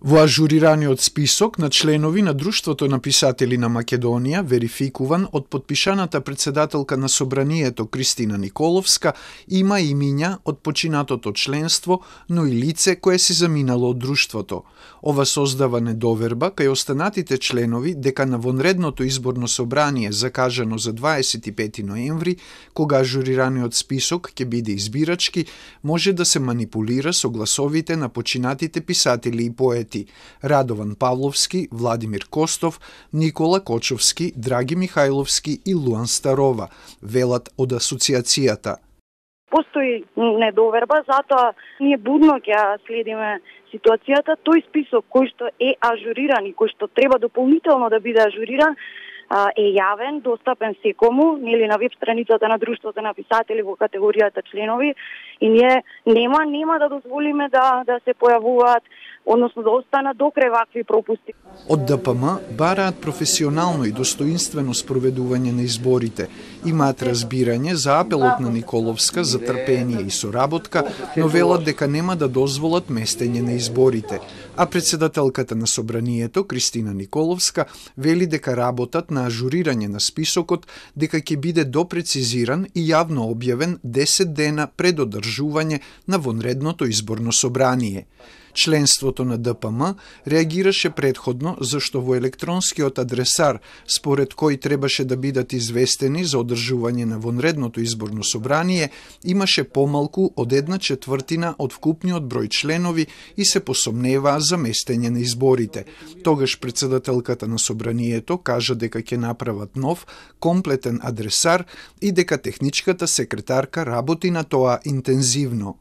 Во ажурираниот список на членови на Друштвото на писатели на Македонија, верификуван од подпишаната председателка на Собранието Кристина Николовска, има имиња од починатото членство, но и лице кое си заминало од Друштвото. Ова создава недоверба кај останатите членови дека на вонредното изборно собрание закажано за 25 ноември, кога ажурираниот список ќе биде избирачки, може да се манипулира со гласовите на починатите писатели и поети Радован Павловски, Владимир Костов, Никола Кочовски, Драги Михајловски и Луан Старова, велат од асоциацијата. Постои недоверба, затоа ние будно ќе следиме ситуацијата. Тој список кој што е ажуриран и кој што треба дополнително да биде ажуриран е јавен, достапен секому, нели на веб страницата на Друштвото на писатели во категоријата членови, и ние нема да дозволиме да се појавуваат, односно да останат докрај вакви пропусти. Од ДПМ бараат професионално и достоинствено спроведување на изборите. Имаат разбирање за апелот на Николовска за трпение и соработка, но велат дека нема да дозволат местење на изборите. А председателката на Собранието, Кристина Николовска, вели дека работат на ажурирање на списокот, дека ќе биде допрецизиран и јавно објавен 10 дена пред одржување на вонредното изборно собрание. Членството на ДПМ реагираше предходно зашто во електронскиот адресар, според кој требаше да бидат известени за одржување на вонредното изборно собрание, имаше помалку од 1/4 од вкупниот број членови и се посомневаа за местење на изборите. Тогаш председателката на Собранието кажа дека ќе направат нов, комплетен адресар и дека техничката секретарка работи на тоа интензивно.